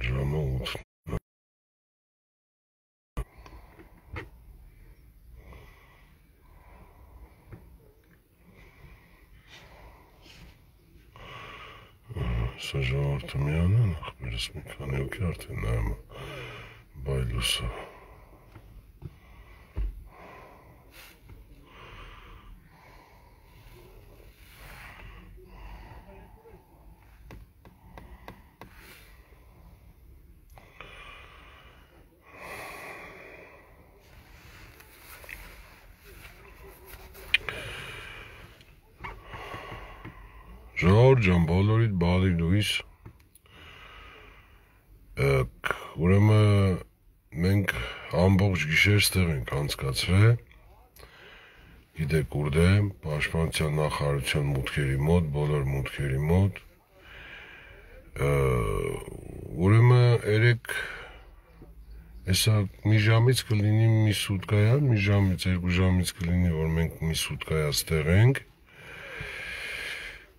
Ժամը 8 Սա ժողովուրդը միան են, ախպերս մի քանի հոգի արդեն նայում բայլուսը Ժողովուրդ ջան, բոլորիդ բարի լույս Ուրեմն մենք ամբողջ գիշեր ստեղ ենք անցկացրել Գիտեք ուր դե Պաշտպանության նախարարության մուտքերի մոտ, բոլոր մուտքերի մոտ Ուրեմն երեք Հեսա մի ժամից կլինի մի սուտկայա, մի ժամից, երկու ժամից կլինի, որ մենք մի սուտկայա ստեղ ենք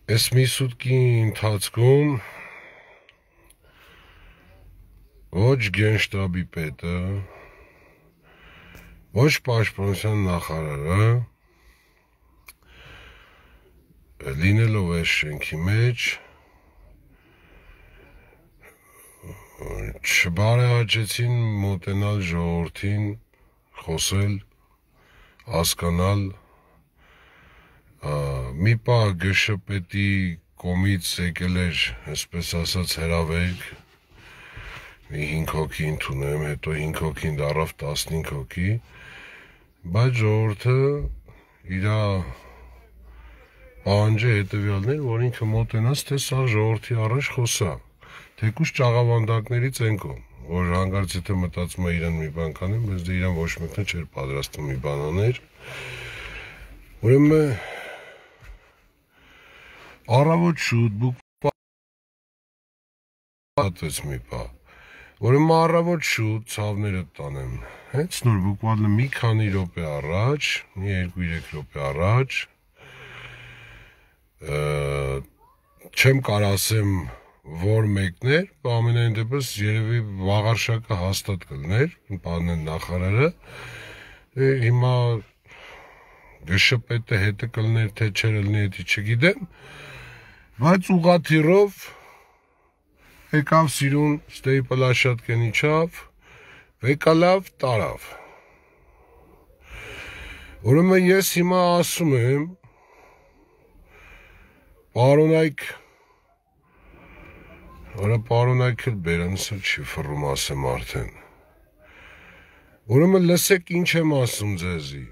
Այս մի սուտկի ընթացքում ոչ գենշտաբի պետը, ոչ պաշտպանության նախարարը լինելով այս շենքի մեջ չբարեհաճեցին մոտենալ ժողովրդին, խոսել, հասկանալ Մի պահ ԳՇՊՏ-ի կողմից եկել էր, այսպես ասած, հրավերք, մի 5 հոգի ընդունեմ, հետո 5 հոգին դառավ 15 հոգի, բայց ժողովուրդը իր պահանջը հետևյալն էր, որ ինքը մոտենաց, թե սա ժողովրդի առաջ խոսա, թեկուզ ճաղավանդակներից ենքո, որ հանգարց եթե մտածում է իրան մի բան կանեմ, բայց դե իրան ոչ մեկն չէր պատրաստում մի բան աներ, ուրեմն Առավոտ շուտ բուկվատվեց մի պահ, ուրեմն առավոտ շուտ ցավները տանեմ, հենց նոր բուկվալը մի քանի րոպե առաջ, մի 2-3 րոպե առաջ, չեմ կարող ասեմ, որ մեկն էր, ամենայն դեպս երևի վաղարշակը հաստատ կլներ, պարոն նախարարը, հիմա ԳՇՊՏ-ը հետը կլներ, թե չէր լինի, դա չգիտեմ, բայց ուղղաթիռով եկավ սիրուն ստեի պլաշատկեն իջավ, վեկալավ, տարավ։ Ուրեմն ես հիմա ասում եմ, պարոնայք, Արա պարոնայք էլ բերանսը չի ֆռում ասեմ արդեն։ Ուրեմն լսեք ինչ եմ ասում ձեզի։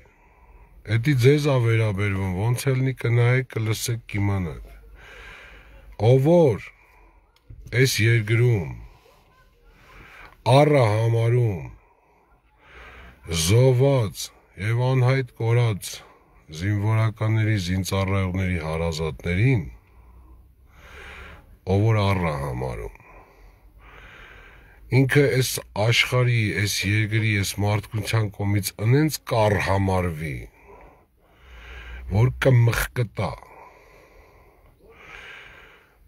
Էդի ձեզ ա վերաբերվում, ոնց ելնի կնայեք, կլսեք կիմանաք։ Ով որ այս երկրում առը համարում զոհված եւ անհայտ կորած զինվորականների, զինծառայողների հարազատներին, ով որ առը համարում, ինքը այս աշխարհի, այս երկրի, այս մարդկության կողմից ընենց կառ համարվի, որ կմխկտա։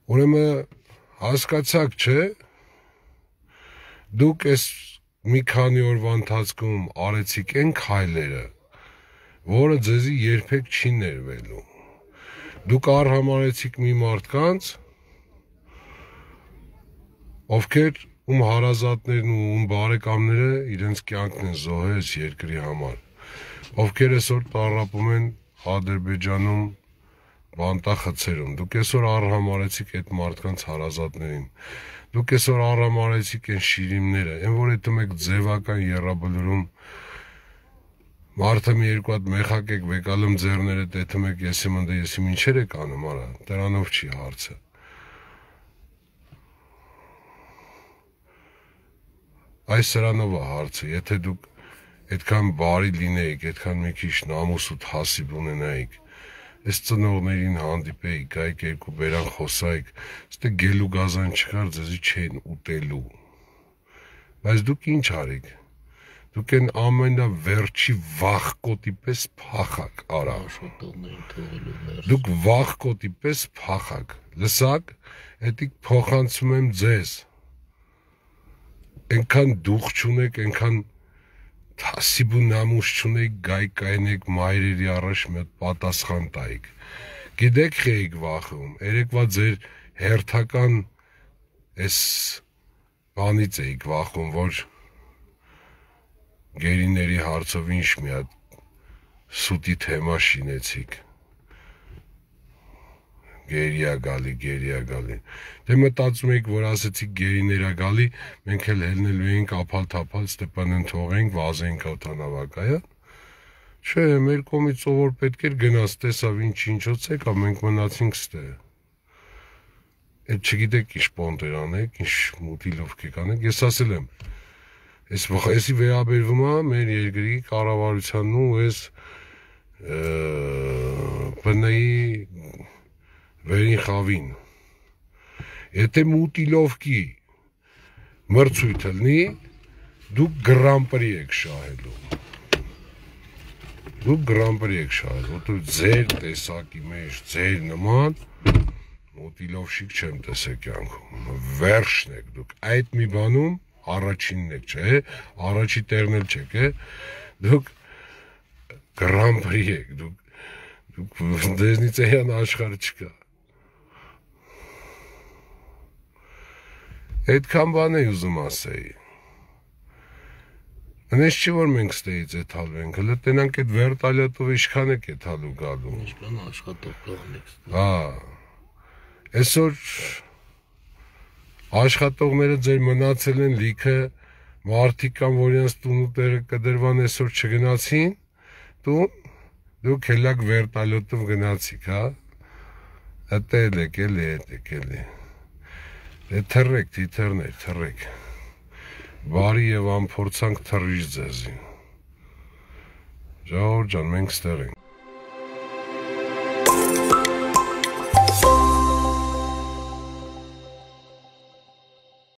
Ուրեմն հասկացաք, չէ՞, դուք այս մի քանի օրվա ընթացքում արեցիք այն քայլերը, որը ձեզի երբեք չի ներվելու։ Դուք արհամարեցիք մի մարդկանց, ովքեր ում հարազատներն ու ում բարեկամները իրենց կյանքն են զոհել այս երկրի համար, ովքեր այսօր տառապում են Ադրբեջանում բանտախցերում, դուք այսօր արհամարեցիք այդ մարդկանց հարազատներին, դուք այսօր արհամարեցիք այն շիրիմները, այն որ հետո մեկ ձևական եռաբլուրում մարդը մի երկու հատ մեխակ եք վեկալում ձեռները, դեթում եք եսիմ ընդ եսիմ ինչեր եք անում, արա, դրանով չի հարցը։ Այս սրանով է հարցը, եթե դուք այդքան բարի լինեիք, այդքան մի քիչ նամուս ու հասիբ ունենայիք, այս ծնողներին հանդիպեիք, գայիք երկու բերան խոսայիք, ստե գելու գազան չկար, ձեզի չեն ուտելու։ Բայց դուք ինչ արիք։ Դուք են ամենավերջի վախկոտի պես փախակ, արա։ Դուք վախկոտի պես փախակ։ Լսակ, էդիկ փոխանցում եմ ձեզ։ այնքան դուխ չունեք, այնքան թասիբ ու նամուս չունեք, գայք մայրերի առաջ մի պատասխան տայիք։ Գիտեք խի էիք վախում, երեկվա ձեր հերթական այս բանից էիք վախում, որ գերիների հարցով ինչ մի հատ սուտի թեմա շինեցիք։ Գերիա գալի։ Դե մտածում եք, որ ասեցիք գերիներա գալի, մենք էլ հելնելու էինք ափալ-թափալ Ստեփանեն թողենք, վազենք օդանավակայան։ Չէ, մեր կողմից ով որ պետք էր գնաց, տեսավ ինչ-ինչոց եկա, մենք մնացինք ստե։ Այդ չգիտեք ինչ պոնտեր անեք, ինչ մուտիլով կեք անեք, ես ասել եմ, այսի վերաբերվում է մեր երկրի կառավարությանն ու այս ՊՆ-ի վերին խավին։ Եթե մուտիլովկի մրցույթ լինի, դուք գրանպրի եք շահելու։ Որտեղ ձեր տեսակի մեջ, ձեր նման մուտիլովշիկ չեմ տեսել կյանքում։ Վերջն եք դուք այդ մի բանում առաջինն եք, չէ՞, առաջի տերն էլ չեք, դուք գրանպրի եք, դուք դեզնից էյան աշխարհ չկա։ Այդքան բան էի ուզում ասեի։ Այնպես չի որ մենք ստեից եթալվենք, հələ տենանք այդ վերտալյատով ինչքան եք եթալու գալու։ Ինչքան աշխատող կողնեք։ Հա։ Այսօր աշխատողները ձեր մնացել են լիքը, մարդիկ կան, որ իրենց տունու տեղը կդրվան այսօր չգնացին, դուք հելակ վերտալյոտով գնացիք, հա։ Էդ էլի։ Դե թռեք, թիթեռներ, թռեք։ Բարի եւ անփորձանք թռիչ ձեզի։ Ժողովուրդ ջան, մենք ստեղ ենք։